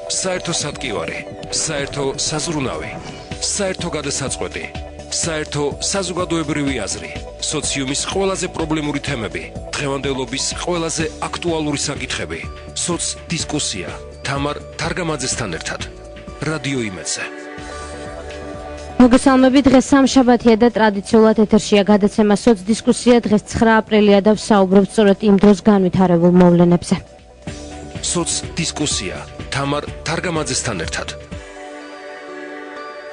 საერთო სატკივარი, საერთო საზრუნავი, საერთო გადასაწყვეტი, საერთო საზოგადოებრივი აზრი, სოციუმის ყველაზე პრობლემური თემები, დღევანდელობის ყველაზე აქტუალური საკითხები, სოცდისკუსია, თამარ თარგამაძესთან ერთად. რადიო იმედზე. მოგესალმებით, დღეს სამშაბათია და ტრადიციულად ეთერშია გადაცემა სოცდისკუსია. დღეს 9 აპრილია და ვსაუბრობთ სწორედ იმ დროს განვითარებულ მოვლენებზე. სოცდისკუსია, თამარ თარგამაძესთან ერთად.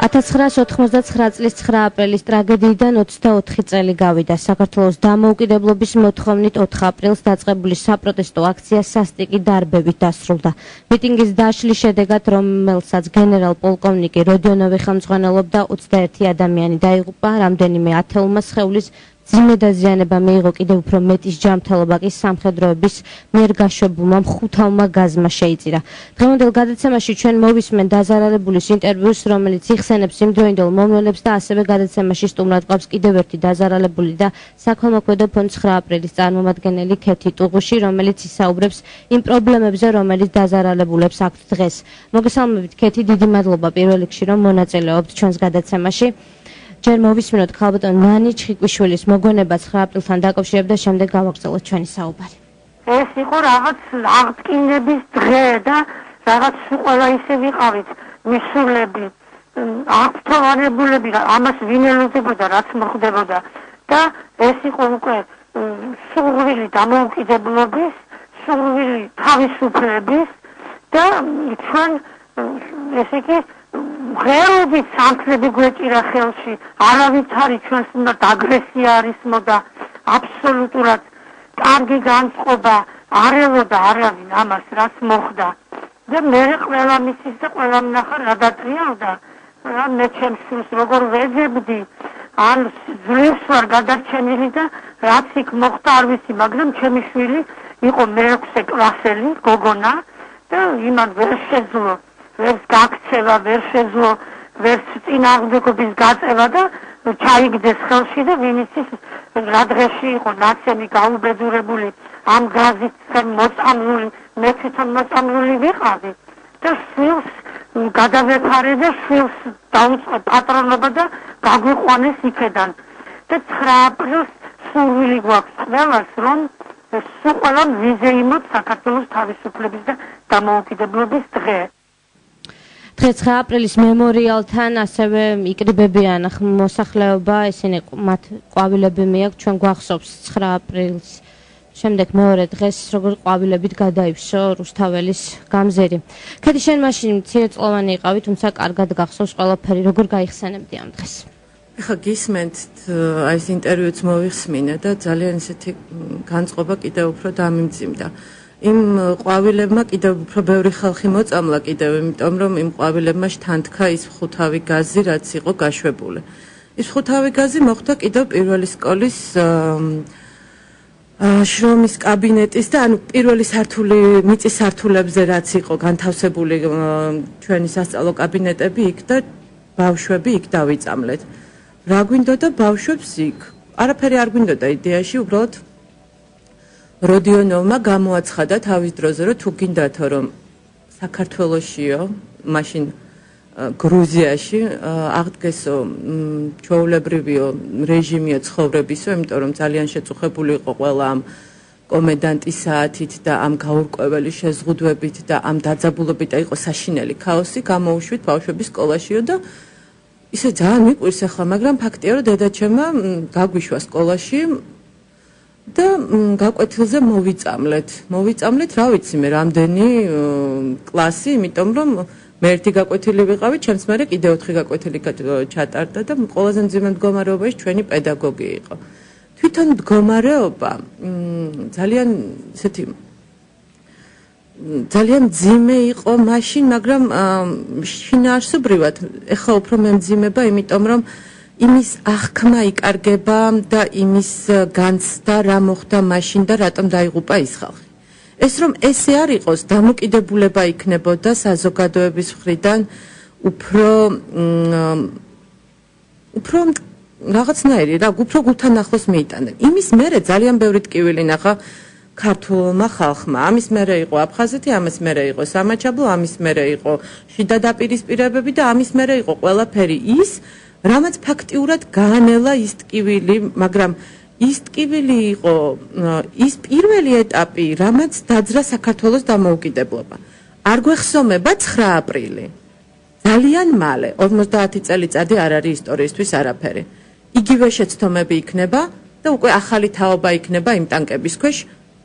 1989 წლის 9 აპრილის ტრაგედიიდან 24 წელი გავიდა. საქართველოს დამოუკიდებლობის მოთხოვნით 4 აპრილს დაწყებული საპროტესტო აქცია სასტიკი დარბებით დასრულდა. მიტინგის დაშლის შედეგად, რომელსაც გენერალ-პოლკოვნიკი როდიონოვი ხელმძღვანელობდა, 21 ადამიანი დაიღუპა, რამდენიმე ათეულმა სხეულის ძიმე დაზიანება მიიღო, კიდევ უფრო მეტის ჯანმრთელობა კი სამხედროების მიერ გაშვებულმა მხუთავმა გაზმა შეიწირა. დღევანდელ გადაცემაში ჩვენ მოვისმენ დაზარალებულის ინტერვიუს, რომელიც იხსენებს იმდროინდელ მომვლელებს და ასევე გადაცემაში სტუმრად გვაქვს კიდევ ერთი დაზარალებული და საქველმოქმედო ფონდ 9 აპრილის წარმომადგენელი ქეთი ტუღუში, რომელიც ისაუბრებს იმ პრობლემებზე, რომელიც დაზარალებულებს აქვთ დღეს. მოგესალმებით ქეთი, დიდი მადლობა პირველ რიგში, რომ მონაწილეობთ ჩვენს გადაცემაში. ჯერ მოვისმინოთ ქალბატონ ნანი ჩხიკვიშვილის მოგონება 9 აპრილთან დაკავშირებით და შემდეგ გავაგრძელოთ ჩვენი საუბარი. ეს იყო რაღაც აღდგინების დღე და რაღაც ყველა ისე ვიყავით მისულები, აღფრთოვანებულები, ამას ვინ ელოდებოდა, რაც მოხდებოდა და ეს იყო უკვე სურვილი დამოუკიდებლობის, სურვილი თავისუფლების და ჩვენ ესე იგი ღეროებით სამთლები გვეჭირა ხელში, არავითარი ჩვენს უნდა აგრესია არის მოდა, აბსოლუტურად კარგი განწყობა არ ელოდა არავინ ამას, რაც მოხდა. და მე ყველა მისის და ყველა ნახა რა დატრიალდა, რა მე ჩემს სულს როგორ ვეძებდი, ან ძლივს ვარ გადარჩენილი და რაც იქ მოხდა არ ვიცი, მაგრამ ჩემი შვილი იყო მე-6 კლასელი, გოგონა და იმან ვერ შეძლო ვერც გაქცევა, ვერ შეძლო, ვერც წინააღმდეგობის გაწევა და ჩაიგდეს ხელში და ვინიცის რა დღეში იყო ნაცემი გაუბედურებული ამ გაზით მოწამლული, მე თვითონ მოწამლული ვიყავი და შვილს გადავეფარე და შვილს დაუწყო პატრონობა და გაგვიყვანეს იქედან და 9 აპრილს სურვილი გვაქვს ყველას, რომ სულ ყველამ ვიზეიმოთ საქართველოს თავისუფლების და დამოუკიდებლობის დღე. დღეს 9 აპრილის მემორიალთან ასევე იკრიბებიან მოსახლეობა, ისინი მათ ყვავილები მიაქვთ, ჩვენ გვახსოვს 9 აპრილს შემდეგ მეორე დღეს როგორ ყვავილებით გადაივსო რუსთაველის გამზირი. ქეთი, შენ მაშინ მცირეწლოვანი იყავი, თუმცა კარგად გახსოვს ყველაფერი, როგორ გაიხსენებდი ამ დღეს? ეხლა გისმენთ ეს ინტერვიუც მოვიხსმინე და ძალიან ისეთი განწყობა კიდევ უფრო დამიმძიმდა. იმ ყვავილებმა კიდევ უფრო ბევრი ხალხი მოწამლა კიდევ, იმიტომ რომ იმ ყვავილებმა შთანთქა ის ხუთავი გაზი, რაც იყო გაშვებული. ის ხუთავი გაზი მოხდა კიდევ პირველი სკოლის შრომის კაბინეტის და ანუ პირველი სართული მიწის სართულებზე რაც იყო განთავსებული ჩვენი სასწავლო კაბინეტები იქ და ბავშვები იქ დავიწამლეთ. რა გვინდოდა ბავშვებს იქ? არაფერი არ გვინდოდა იდეაში, უბრალოდ როდიონოვმა გამოაცხადა თავის დროზე, რომ თუ გინდათო რომ საქართველოსიო, მაშინ გრუზიაში აღდგესო ჩვეულებრივიო რეჟიმიო ცხოვრებისო, იმიტომ რომ ძალიან შეწუხებული იყო ყველა ამ კომენდანტის საათით და ამ გაურკვეველი შეზღუდვებით და ამ დაძაბულობით და იყო საშინელი ქაოსი, გამოუშვით ბავშვების სკოლაშიო და ისე ძალიან მიყვირს ახლა, მაგრამ ფაქტია, რომ დედაჩემმა გაგვიშვა სკოლაში და გაკვეთილზე მოვიწამლეთ, რა ვიცი მე, რამდენი კლასი, იმიტომ რომ მე ერთი გაკვეთილი ვიყავი, ჩემს მერე კიდე 4 გაკვეთილი ჩატარდა და ყველაზე მძიმე მდგომარეობაში ჩვენი პედაგოგი იყო. თვითონ მდგომარეობა ძალიან ისეთი ძალიან მძიმე იყო მაშინ, მაგრამ შინაარსობრივად ეხლა უფრო მემძიმება, იმიტომ რომ იმის აღქმა იკარგება და იმის განცდა რა მოხდა მაშინ და რატომ დაიღუპა ის ხალხი. ეს რომ ესე არ იყოს, დამოკიდებულება იქნებოდა საზოგადოების მხრიდან უფრო რაღაცნაირი, რა, უფრო გულთან ახლოს მიიტანენ. იმის მერე ძალიან ბევრი ტკივილი ნახა ქართულმა ხალხმა. ამის მერე იყო აფხაზეთი, ამის მერე იყო სამაჩაბლო, ამის მერე იყო შიდა დაპირისპირებები და ამის მერე იყო ყველაფერი ის, რამაც ფაქტიურად გაანელა ის ტკივილი, მაგრამ ის ტკივილი იყო ის პირველი ეტაპი, რამაც დაძრა საქართველოს დამოუკიდებლობა. არ გვეხსოვნება 9 აპრილი. ძალიან მალე, 50 წელიწადი არ არის ისტორიისთვის არაფერი. იგივე შეცდომები იქნება და უკვე ახალი თაობა იქნება იმ ტანკების ქვეშ.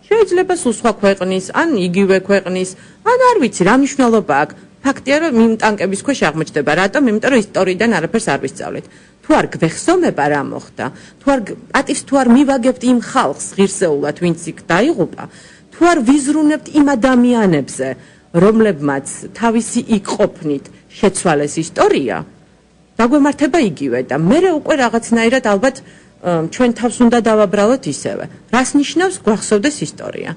შეიძლება სულ სხვა ქვეყნის, ან იგივე ქვეყნის, ან არ ვიცი, რა მნიშვნელობა აქვს. ფაქტია, რომ იმ ტანკების ქვეშ აღმოჩნდება. რატომ? იმიტომ რომ ისტორიიდან არაფერს არ ვისწავლეთ. თუ არ გვეხსოვნება რა მოხდა, პატივს თუ არ მივაგებთ იმ ხალხს ღირსეულად, ვინც იქ დაიღუპა, თუ არ ვიზრუნებთ იმ ადამიანებზე, რომლებმაც თავისი იქ ყოფნით შეცვალეს ისტორია, დაგვემართება იგივე და მე უკვე რაღაცნაირად ალბათ ჩვენ თავს უნდა დავაბრალოთ ისევე. რას ნიშნავს გვახსოვდეს ისტორია?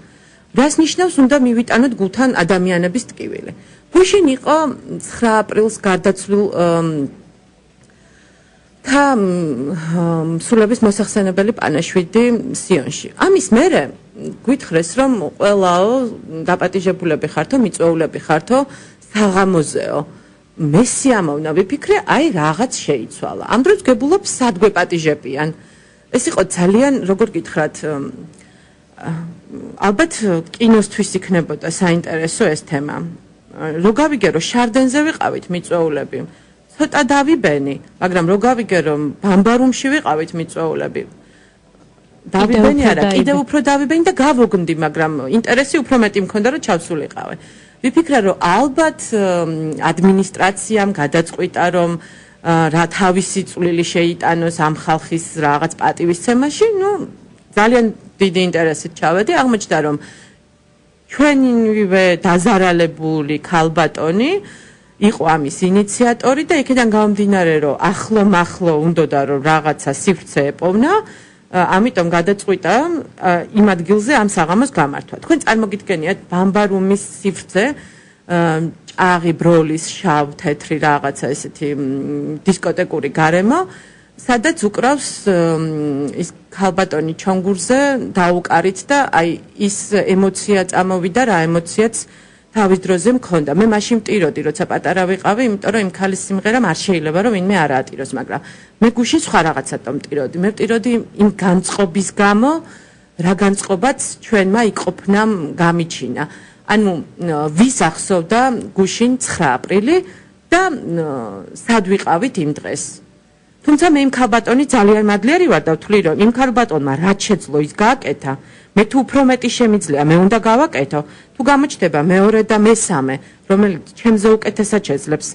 რას ნიშნავს უნდა მივიტანოთ გულთან ადამიანების ტკივილი? გუშინ იყო 9 აპრილს გარდაცვლილ და სულების მოსახსენებელი პანაშვიდი სიონში. ამის მერე გვითხრეს, რომ ყველაო დაპატიჟებულები ხართო, მიწვეულები ხართო საღამოზეო. მე სიამოვნა ვიფიქრე, აი რაღაც შეიცვალა. ამ დროს გებულობ სად გვეპატიჟებიან. ეს იყო ძალიან, როგორ გითხრათ, ალბათ კინოსთვის იქნებოდა საინტერესო ეს თემა. რო გავიგე, რომ შარდენზე ვიყავით მიწვეულები, ცოტა დავიბენი, მაგრამ რო გავიგე, რომ ბამბარუმში ვიყავით მიწვეულები, დავიბენი არა, კიდევ უფრო დავიბენი და გავოგნდი, მაგრამ ინტერესი უფრო მეტი მქონდა, რომ ჩავსულიყავე. ვიფიქრე, რომ ალბათ ადმინისტრაციამ გადაწყვიტა, რომ რა თავისი წვლილი შეიტანოს ამ ხალხის რაღაც პატივისცემაში, ძალიან დიდი ინტერესით ჩავედი, აღმოჩნდა, რომ ჩვენივე დაზარალებული ქალბატონი იყო ამის ინიციატორი და იქიდან გამომდინარე, რომ ახლო-მახლო უნდოდა, რომ რაღაცა სივრცე ეპოვნა, ამიტომ გადაწყვიტა იმ ადგილზე ამ საღამოს გამართვა. თქვენ წარმოგიდგენიათ ბამბარუმის სივრცე, ჭაღი, ბროლის, შავ, თეთრი რაღაცა ესეთი დისკოტეკური გარემო, სადაც უკრავს ის ქალბატონი ჩონგურზე დაუკარით და აი ის ემოცია წამოვიდა, რა ემოციაც თავის დროზე მქონდა. მე მაშინ მტიროდი, როცა პატარა ვიყავი, იმიტომ რომ იმ ქალის სიმღერამ არ შეიძლება რომ ვინმე არ აატიროს, მაგრამ მე გუშინ სხვა რაღაცათო მტიროდი. მე მტიროდი იმ განწყობის გამო, რა განწყობაც ჩვენმა იყოფნამ გამიჩინა. ანუ ვის ახსოვდა გუშინ 9 აპრილი და სად ვიყავით იმ დღეს. თუმცა მე იმ ქალბატონი ძალიან მადლიერი ვარ და ვთვლი, რომ იმ ქალბატონმა რაც შეძლო ის გააკეთა, მე თუ უფრო მეტი შემიძლია, მე უნდა გავაკეთო. თუ გამოჩნდება მეორე და მესამე, რომელიც ჩემზე უკეთესად შეძლებს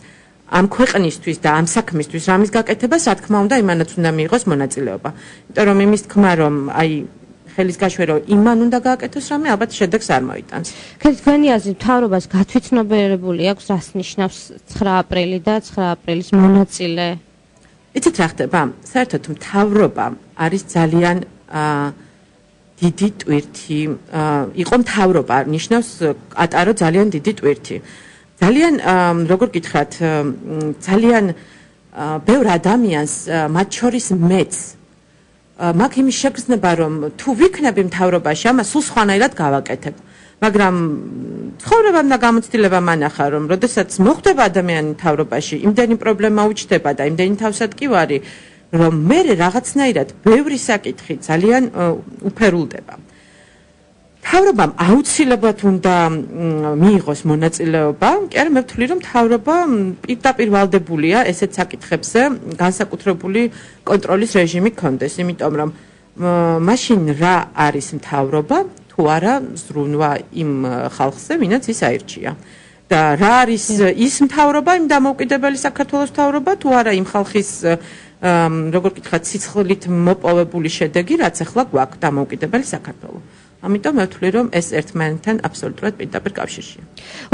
ამ ქვეყნისთვის და ამ საქმისთვის რამის გაკეთებას, რა თქმა უნდა, იმანაც უნდა მიიღოს მონაწილეობა. იმიტომ რომ იმის თქმა, რომ აი ხელის გაშვერო იმან უნდა გააკეთოს რამე, ალბათ შედეგს არ მოიტანს. თქვენი აზრით, მთავრობას გათვითცნობიერებული აქვს, რას ნიშნავს 9 აპრილი და 9 აპრილის მონაწილე? იცით რა ხდება? საერთოდ მთავრობა არის ძალიან დიდი ტვირთი, იყო მთავრობა, ნიშნავს ატარო ძალიან დიდი ტვირთი. ძალიან, როგორ გითხრათ, ძალიან ბევრ ადამიანს, მათ შორის მეც, მაქვს იმის შეგრძნება, რომ თუ ვიქნები მთავრობაში, ამას სულ სხვანაირად გავაკეთებ. მაგრამ ცხოვრებამ და გამოცდილებამ ანახა, რომ როდესაც მოხვდება ადამიანი მთავრობაში, იმდენი პრობლემა უჩნდება და იმდენი თავსატკივარი, რომ მე რაღაცნაირად ბევრი საკითხი ძალიან უფერულდება. მთავრობამ აუცილებლად უნდა მიიღოს მონაწილეობა, კი არა, მე ვთვლი, რომ მთავრობა პირდაპირ ვალდებულია ესეთ საკითხებზე განსაკუთრებული კონტროლის რეჟიმი გქონდეს, იმიტომ რომ მაშინ რა არის მთავრობა, თუ არა ზრუნვა იმ ხალხზე, ვინაც ის აირჩია. და რა არის ის მთავრობა, იმ დამოუკიდებელი საქართველოს მთავრობა, თუ არა იმ ხალხის როგორ გითხრათ, სიცხლით მოპოვებული შედეგი, რაც ახლა გვაქვს დამოუკიდებელი საქართველო. ამიტომ მე ვთვლი, რომ ეს ერთმანეთთან აბსოლუტურად პირდაპირ კავშირშია.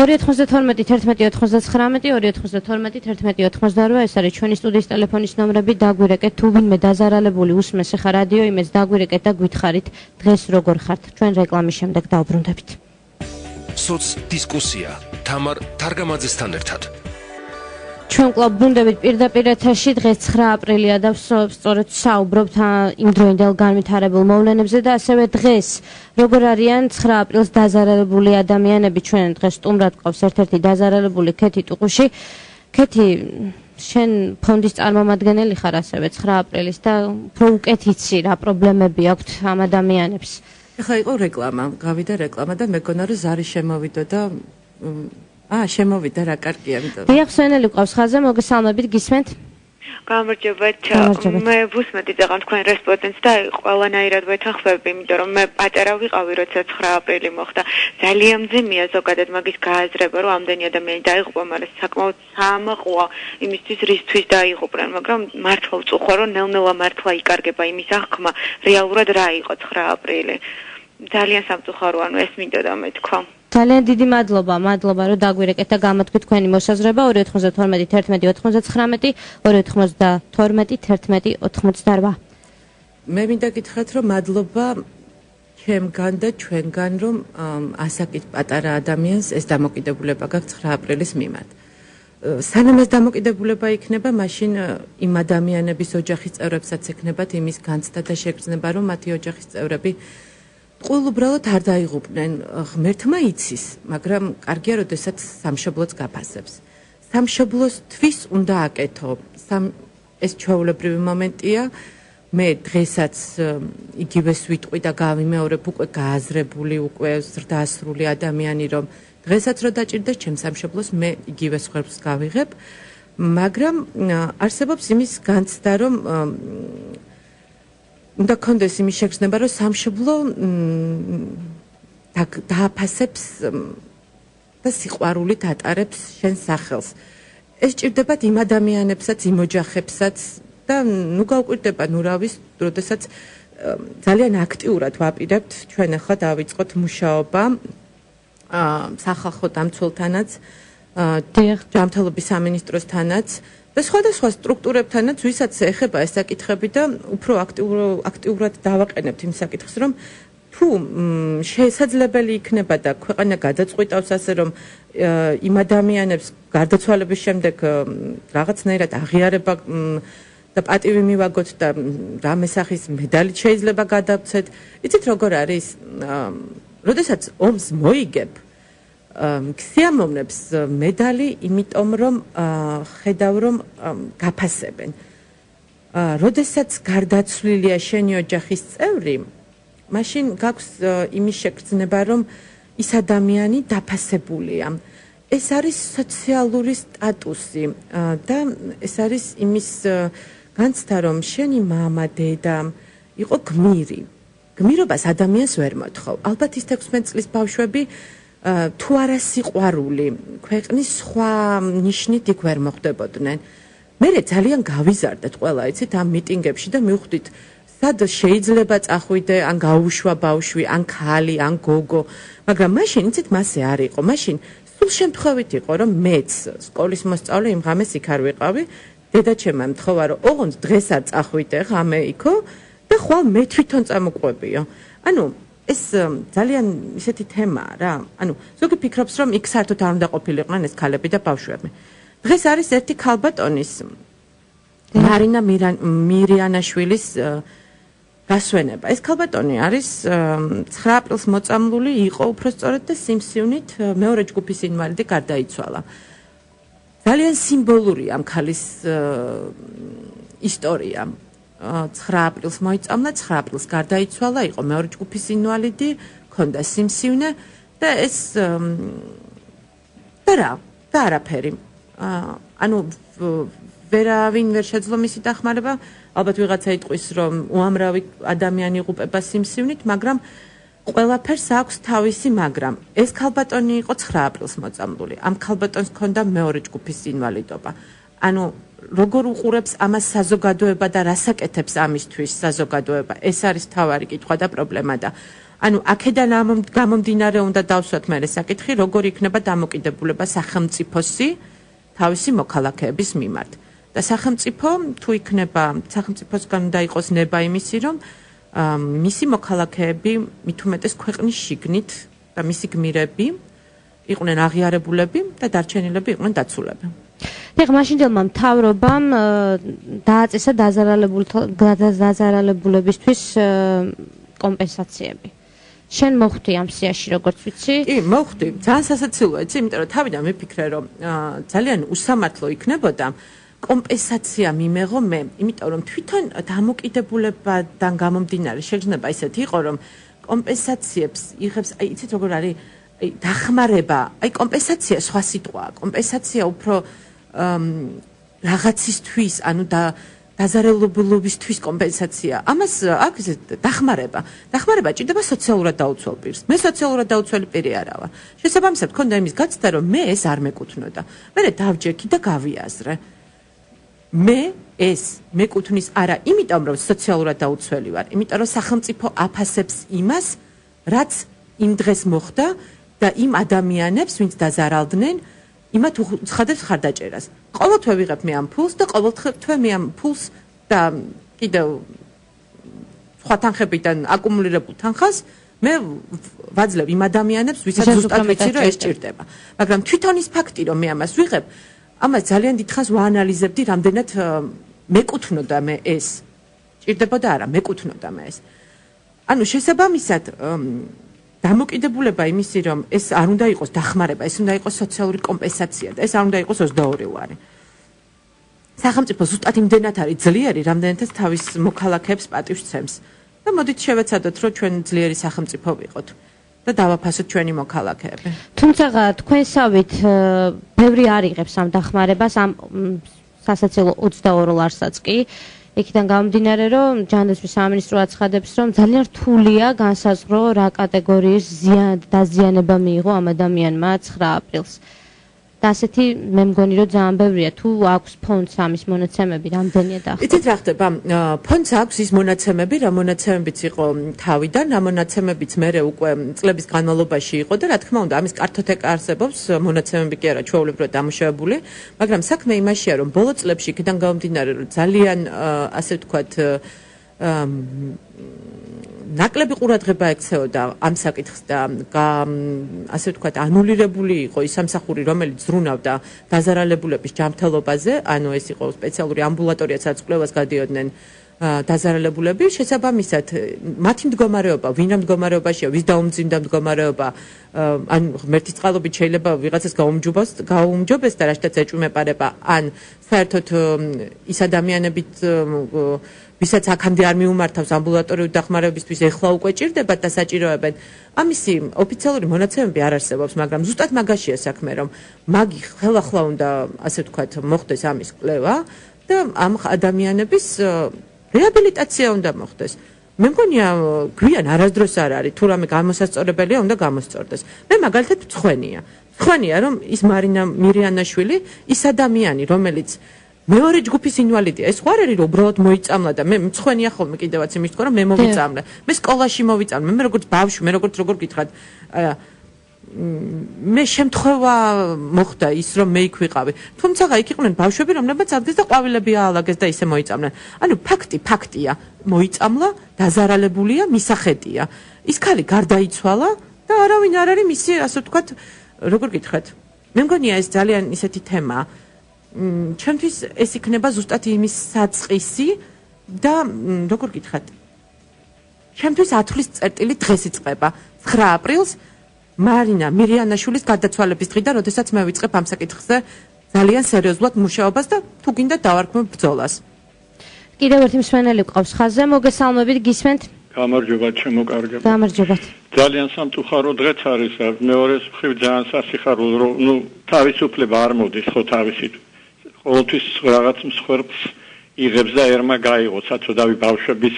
292 11 99 292 11 ეს არის ჩვენი სტუდიის ტელეფონის ნომრები, დაგვირეკეთ თუ ვინმე დაზარალებული უსმენს ახლა რადიო იმედს დაგვირეკეთ და გვითხრით დღეს როგორ ხართ. ჩვენ რეკლამის შემდეგ დავბრუნდებით. სოც დისკუსია თამარ თარგამაძესთან ერთად. ჩვენ კვლავ ბრუნდებით პირდაპირ ეთერში დღეს 9 აპრილია და სწორედ საუბრობთ იმ დროინდელ განვითარებულ მოვლენებზე და ასევე დღეს როგორ არიან 9 აპრილს დაზარალებული ადამიანები ჩვენ დღეს სტუმრად ყავს ერთ-ერთი დაზარალებული ქეთი ტუყუში. ქეთი შენ ფონდის წარმომადგენელი ხარ ასევე 9 აპრილის და უფრო უკეთ იცი რა პრობლემები აქვთ ამ ადამიანებს. ეხლა იყო რეკლამა, გავიდა რეკლამა და მეგონა რომ ზარი შემოვიდა და შემოვიდა რა კარგია, ამიტომ. დიახ, სვენელი ყავს ხაზე, მოგესალმებით, გისმენთ? გამარჯობათ. მე ვუსმენთ იცი თქვენ რესპონდენტს და ყველანაირად ვეთანხმები, იმიტომ რომ მე პატარა ვიყავი, როცა 9 აპრილი მოხდა. ძალიან მძიმეა ზოგადად მაგის გააზრება, რომ ამდენი ადამიანი დაიღუპა, მაგრამ საკმაოდ საამაყოა იმისთვის, რისთვის დაიღუპნენ, მაგრამ მართლა ვწუხარ, რომ ნელ-ნელა მართლა იკარგება იმის აღქმა, რეალურად რა იყო 9 აპრილი. ძალიან სამწუხაროა, ეს მინდოდა მეთქვა. ძალიან დიდი მადლობა რომ დაგვირეკეთ და გამოთქვით თქვენი მოსაზრება 292 11 99 292 11 88. მე მინდა გითხრათ რომ მადლობა ჩემგან და ჩვენგან რომ ასაკით პატარა ადამიანს ეს დამოკიდებულება გაქვს 9 აპრილის მიმართ. სანამ ეს დამოკიდებულება იქნება, მაშინ იმ ადამიანების ოჯახის წევრებსაც ექნებათ იმის განცდა და შეგრძნება, რომ მათი ოჯახის წევრები ყოველ უბრალოდ არ დაიღუპნენ. ღმერთმა იცის, მაგრამ კარგია, როდესაც სამშობლოც გაფასებს. სამშობლოსთვის უნდა აკეთო. ეს ჩვეულებრივი მომენტია. მე დღესაც იგივეს ვიტყვი და გავიმეორებ უკვე გააზრებული, უკვე ზრდასრული ადამიანი, რომ დღესაც რო დაჭირდეს ჩემ სამშობლოს, მე იგივეს ხერხს გავიღებ, მაგრამ არსებობს იმის განცდა, რომ უნდა კონდეს იმის შეგრძნება, რომ სამშობლო დააფასებს და სიყვარულით ატარებს შენ სახელს. ეს ჭირდებათ იმ ადამიანებსაც, იმ ოჯახებსაც და ნუ გავკვირდება, ნუ რა ვის, როდესაც ძალიან აქტიურად ვაპირებთ ჩვენ ახლა დავიწყოთ მუშაობა სახალხო დამცველთანაც, ჯანმრთელობის სამინისტროსთანაც და სხვადასხვა სტრუქტურებთანაც, ვისაც ეხება ეს საკითხები და უფრო აქტიურად დავაყენებთ იმ საკითხს, რომ თუ შესაძლებელი იქნება და ქვეყანა გადაწყვიტავს ასე, რომ იმ ადამიანებს გარდაცვალების შემდეგ რაღაცნაირად აღიარება და პატივი მივაგოთ და რამე სახის მედალით შეიძლება გადავცეთ. იცით როგორ არის? როდესაც ომს მოიგებ, ქსიამოვნებს მედალი, იმიტომ რომ ხედავ რომ გაფასებენ. როდესაც გარდაცვლილია შენი ოჯახის წევრი, მაშინ გაქვს იმის შეგრძნება, რომ ის ადამიანი დაფასებულია. ეს არის სოციალური სტატუსი და ეს არის იმის განცდა, რომ შენი მამა, დედა იყო გმირი. გმირობას ადამიანს ვერ მოთხოვ. ალბათ ის 16 წლის ბავშვები თუ არა სიყვარული, ქვეყნის სხვა ნიშნით იქ ვერ მოხდებოდნენ. მე ძალიან გავიზარდეთ ყველა, იცით, ამ მიტინგებში და მივხვდით, სად შეიძლება წახვიდე, ან გაუშვა ბავშვი, ან ქალი, ან გოგო, მაგრამ მაშინ, იცით, მასე არ იყო. მაშინ სულ შემთხვევით იყო, რომ მეც სკოლის მოსწავლე იმ ღამეს იქ არ ვიყავი, დედაჩემმა მთხოვა, რომ ოღონდ დღეს არ წახვიდე, ღამე იქო და ხვალ მე თვითონ წამოყვებიო. ანუ ეს ძალიან ისეთი თემაა რა. ანუ ზოგი ფიქრობს, რომ იქ საერთოდ არ უნდა ყოფილიყვნენ ეს ქალები და ბავშვები. დღეს არის ერთი ქალბატონის მარინა მირიანაშვილის გასვენება. ეს ქალბატონი არის 9 აპრილს მოწამლული, იყო უბრალოდ და სიმსივნით მეორე ჯგუფის ინვალიდი გარდაიცვალა. ძალიან სიმბოლური ამ ქალის ისტორია. 9 აპრილს მოიწამლა, 9 აპრილს გარდაიცვალა, იყო მეორე ჯგუფის ინვალიდი, ჰქონდა სიმსივნე და ეს და არაფერი. ანუ ვერავინ ვერ შეძლო მისი დახმარება, ალბათ ვიღაცა იტყვის, რომ უამრავი ადამიანი იღუპება სიმსივნით, მაგრამ ყველაფერს აქვს თავისი მაგრამ. ეს ქალბატონი იყო 9 აპრილს მოწამლული. ამ ქალბატონს ჰქონდა მეორე ჯგუფის ინვალიდობა. ანუ როგორ უყურებს ამას საზოგადოება და რას აკეთებს ამისთვის საზოგადოება? ეს არის თავარი კითხვა და პრობლემა და ანუ აქედან გამომდინარე უნდა დავსვათ მე საკითხი, როგორ იქნება დამოკიდებულება სახელმწიფოსი თავისი მოქალაქეების მიმართ. და სახელმწიფო თუ იქნება, სახელმწიფოსგან უნდა იყოს ნება იმისი, რომ მისი მოქალაქეები მით უმეტეს ქვეყნის შიგნით და მისი გმირები იყვნენ აღიარებულები და დარჩენილები იყვნენ დაცულები. ეხლა მაშინდელმა მთავრობამ დააწესა დაზარალებულებისთვის კომპენსაციები. შენ მოხვდი ამ სიაში როგორც ვიცი? კი, მოხვდი. ძალიან სასაცილოა, იცი, იმიტომ რომ თავიდან მიფიქრე, რომ ძალიან უსამართლო იქნებოდა კომპენსაცია მიმეღო მე, იმიტომ რომ თვითონ დამოკიდებულებიდან გამომდინარე შეიძლება ისეთი იყო, რომ კომპენსაციებს იღებს, აი იცით როგორ არის, აი დახმარება, აი კომპენსაცია სხვა სიტყვაა, კომპენსაცია უფრო რაღაცისთვის, ანუ დაზარალებულობისთვის კომპენსაცია. ამას აქვს დახმარება. დახმარება ჭირდება სოციალურად დაუცველ პირს. მე სოციალურად დაუცველი პირი არა ვარ. შესაბამისად, მქონდა იმის გაცდა, რომ მე ეს არ მეკუთვნოდა. მე დავჯექი და გავიაზრე. მე ეს მეკუთვნის არა, იმიტომ რომ სოციალურად დაუცველი ვარ, იმიტომ რომ სახელმწიფო აფასებს იმას, რაც იმ დღეს მოხდა და იმ ადამიანებს, ვინც დაზარალდნენ, იმათ უცხადებს ხარდაჭერას. ყოველთვე ვიღებ მე ამ ფულს და ყოველთვე მე ამ ფულს და კიდევ სხვა თანხებიდან აკუმულირებულ თანხას მე ვაძლევ იმ ადამიანებს, ვისაც ზუსტად ვიცი, რომ ეს ჭირდება. მაგრამ თვითონ ის ფაქტი, რომ მე ამას ვიღებ, ამას ძალიან დიდხანს ვაანალიზებდი, რამდენად მეკუთვნოდა მე ეს. ჭირდებოდა არა, მეკუთვნოდა მე ეს. ანუ შესაბამისად დამოკიდებულება იმისი, რომ ეს არ უნდა იყოს დახმარება, ეს უნდა იყოს სოციალური კომპენსაცია და ეს არ უნდა იყოს 22 ვარი. სახელმწიფო ზუსტად იმდენად არის ძლიერი, რამდენადაც თავის მოქალაქეებს პატივს ცემს. და მოდით შევეცადოთ, რომ ჩვენ ძლიერი სახელმწიფო ვიყოთ და დავაფასოთ ჩვენი მოქალაქეები. თუმცა თქვენსავით ბევრი არ იღებს ამ დახმარებას, ამ სასაცილო 22 ლარსაც კი. იქიდან გამომდინარე, რომ ჯანდაცვის სამინისტრო აცხადებს, რომ ძალიან რთულია განსაზღვრო რა კატეგორიის დაზიანება მიიღო ამ ადამიანმა 9 აპრილს. და ასეთი მე მგონი, რომ ძალიან ბევრია. თუ აქვს ფონდს ამის მონაცემები, რამდენია და ახლა? იცით რა ხდება? ფონდს აქვს ის მონაცემები, რა მონაცემებიც იყო თავიდან, რა მონაცემებიც მე უკვე წლების განმავლობაში იყო და რა თქმა უნდა, ამის კარტოთეკა არსებობს, მონაცემები კი არა ჩვეულებრივად დამუშავებული, მაგრამ საქმე იმაშია, რომ ბოლო წლებში იქიდან გამომდინარე, რომ ძალიან ასე ვთქვათ ნაკლები ყურადღება ექცეოდა ამ საკითხს და ასე ვთქვათ ანულირებული იყო ის სამსახური, რომელიც ზრუნავდა დაზარალებულების ჯანმრთელობაზე, ანუ ეს იყო სპეციალური ამბულატორია, სადაც კვლევას გადიოდნენ დაზარალებულები, შესაბამისად მათი მდგომარეობა, ვინ ამ მდგომარეობაშია, ვის დაუმძიმდა მდგომარეობა, ან ღმერთის წყალობით შეიძლება ვიღაცას გაუმჯობეს და რაშტაც ეჭვმეპარება, ან საერთოდ ის ადამიანებით ვისაც აქამდე არ მიუმართავს ამბულატორიული დახმარებისთვის, ეხლა უკვე ჭირდებათ და საჭიროებენ. ამისი ოფიციალური მონაცემები არ არსებობს, მაგრამ ზუსტად მაგაშია საქმე, რომ მაგი ხელახლა უნდა, ასე ვთქვათ, მოხდეს ამის კვლევა და ამ ადამიანების რეაბილიტაცია უნდა მოხდეს. მე მგონია გვიან არასდროს არ არის, თუ რამე გამოსასწორებელია, უნდა გამოსწორდეს. მე მაგალითად მწხვენია, რომ ის მარინა მირიანაშვილი, ის ადამიანი, რომელიც მეორე ჯგუფის ინვალიდია. ეს ხარ არის, რომ უბრალოდ მოიწამლა და მე მწხვენია ხოლმე კიდევაც იმის თქო, რომ მე მოვიწამლე. მე სკოლაში მოვიწამლე, მე როგორც ბავშვი, მე როგორ გითხრათ, მე შემთხვევა მოხდა ის, რომ მე იქ ვიყავი. თუმცა იქ იყვნენ ბავშვები, რომლებიც ადგეს და ყვავილები აალაგეს და ისე მოიწამლენ. ანუ ფაქტია, მოიწამლა, დაზარალებულია, მისახედია. ის ქალი გარდაიცვალა და არავინ არ არის მისი, ასე ვთქვათ, როგორ გითხრათ. მე მგონია ეს ძალიან ისეთი თემაა. ჩემთვის ეს იქნება ზუსტად იმის საწყისი და როგორ გითხრათ, ჩემთვის ათვლის წერტილი დღეს იწყება 9 აპრილს მარინა მირიანაშვილის გარდაცვალების დღიდან, როდესაც მე ვიწყებ ამ საკითხზე ძალიან სერიოზულად მუშაობას და თუ გინდა დავარქმევ ბრძოლას. კიდევ ერთი მსმენელი გვყავს ხაზზე, მოგესალმებით, გისმენთ? გამარჯობა, ჩემო კარგებო. გამარჯობათ. ძალიან სამწუხარო დღეც არის, მეორე მხრივ ძალიან სასიხარულო, რომ თავისუფლება არ მოდის ხო თავისით. ყოველთვის რაღაც მსხვერპლს იღებს და ერმა გაიღო საწოდავი ბავშვების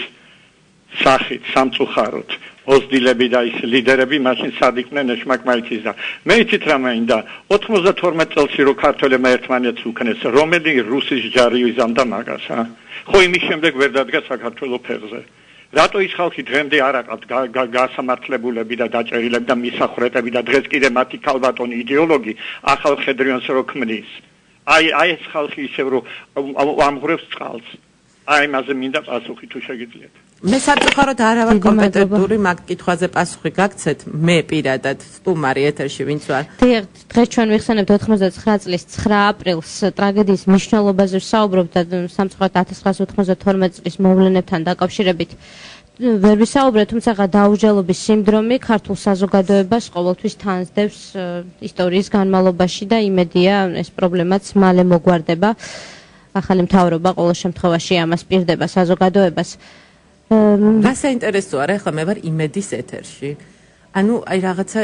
სახით, სამწუხაროდ. ოზდილები და ის ლიდერები მაშინ სად იყვნენ ეშმაკმაიცის და მე იცით რა მინდა 92 წელს რო ქართველებმა ერთმანეთს უქნეს, რომელი რუსის ჯარი იზამდა მაგას, ხო იმის შემდეგ ვერ დადგა საქართველოს ფეხზე. რატო ის ხალხი დღემდე არ აყავთ გასამართლებულები და დაჭერილები და მისახრეტები და დღეს კიდე მათი ქალბატონი იდეოლოგი ახალ ხედრიანს რო ქმნის. აი ეს ხალხი ისევ რომ ამღვრევს წყალს. აი მასე მინდა პასუხი თუ შეგიძლიათ. მე სამწუხაროდ არ ვარ კომპეტენტური მაგ კითხვაზე პასუხი გაგცეთ მე პირადად სტუმარი ეთერში ვინც ვარ. დღეს ჩვენ ვიხსენებთ 99 წლის 9 აპრილს ტრაგედიის მნიშვნელობაზე ვსაუბრობთ და სამწუხაროდ 1992 წლის მოვლენებთან დაკავშირებით ვერ ვისაუბრეთ, თუმცა დაუჯელობის სინდრომი ქართულ საზოგადოებას ყოველთვის თანსდევს ისტორიის განმავლობაში და იმედია ეს პრობლემაც მალე მოგვარდება. ახალი მთავრობა ყოველ შემთხვევაში ამას პირდება საზოგადოებას. რა საინტერესოა, რა ახლა მე ვარ იმედის ეთერში. ანუ აი რაღაცა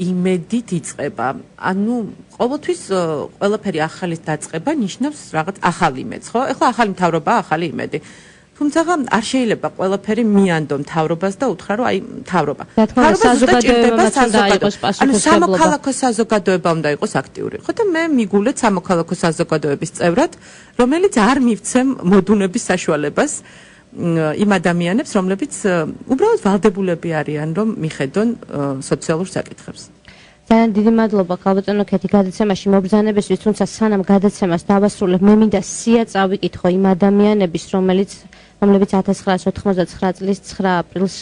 იმედით იწყება. ანუ ყოველთვის ყველაფერი ახალით დაწყება ნიშნავს რაღაც ახალ იმედს, ხო? ახლა ახალი მთავრობაა, ახალი იმედი. თუმცა არ შეიძლება ყველაფერი მიანდო მთავრობას და უთხრა რომ აი მთავრობა. ანუ სამოქალაქო საზოგადოება უნდა იყოს აქტიური. ხო და მე მიგულეთ სამოქალაქო საზოგადოების წევრად, რომელიც არ მივცემ მოდუნების საშუალებას იმ ადამიანებს, რომლებიც უბრალოდ ვალდებულები არიან, რომ მიხედონ სოციალურ საკითხებს. ძალიან დიდი მადლობა ხალბატონო ქეთი გადაცემაში მობრძანებისთვის, თუმცა სანამ გადაცემას დავასრულებ, მე მინდა სია წავიკითხო იმ ადამიანების, რომლებიც 1999 წლის 9 აპრილს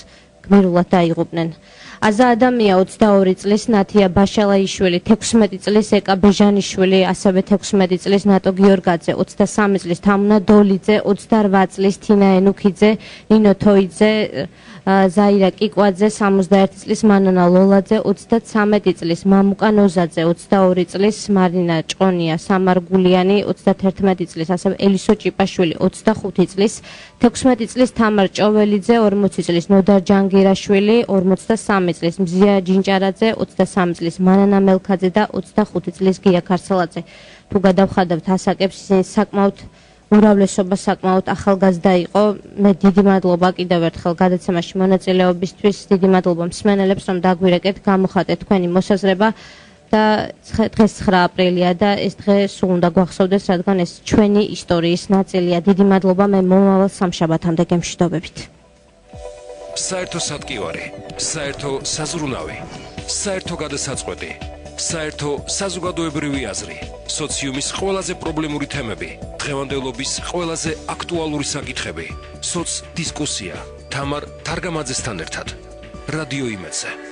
გმირულად დაიღუპნენ. აზა ადამია 22 წლის, ნათია ბაშალაიშვილი 16 წლის, ეკა ბეჟანიშვილი ასევე 16 წლის, ნატო გიორგაძე 23 წლის, თამუნა დოლიძე 28 წლის, თინა ენუქიძე, ნინო თოიძე, ზაირა კიკვაძე 61 წლის, მანანა ლოლაძე 33 წლის, მამუკა ნოზაძე 22 წლის, მარინა ჭყონია სამარგულიანი 31 წლის, ასევე ელისო ჭიპაშვილი 25 წლის, 16 წლის, თამარ ჭოველიძე 40 წლის, ნოდარ ჯანგირაშვილი 43 წლის, მზია ჯინჭარაძე 23 წლის, მანანა მელქაძე და 25 წლის, გია ქარცელაძე. თუ გადავხადავთ ასაკებს, ისინი საკმაოდ უმრავლესობა საკმაოდ ახალგაზრდა იყო. მე დიდი მადლობა კიდევ ერთხელ გადაცემაში მონაწილეობისთვის, დიდი მადლობა მსმენელებს, რომ დაგვირეკეთ, გამოხატეთ თქვენი მოსაზრება და დღეს 9 აპრილია და ეს დღე სულ უნდა გვახსოვდეს, რადგან ეს ჩვენი ისტორიის ნაწილია. დიდი მადლობა, მე მომავალ სამშაბათამდე გემშვიდობებით. საერთო სატკივარი, საერთო საზრუნავი, საერთო გადასაწყვეტი, საერთო საზოგადოებრივი აზრი, სოციუმის ყველაზე პრობლემური თემები, დღევანდელობის ყველაზე აქტუალური საკითხები, სოც დისკუსია, თამარ თარგამაძესთან ერთად. რადიო იმედზე.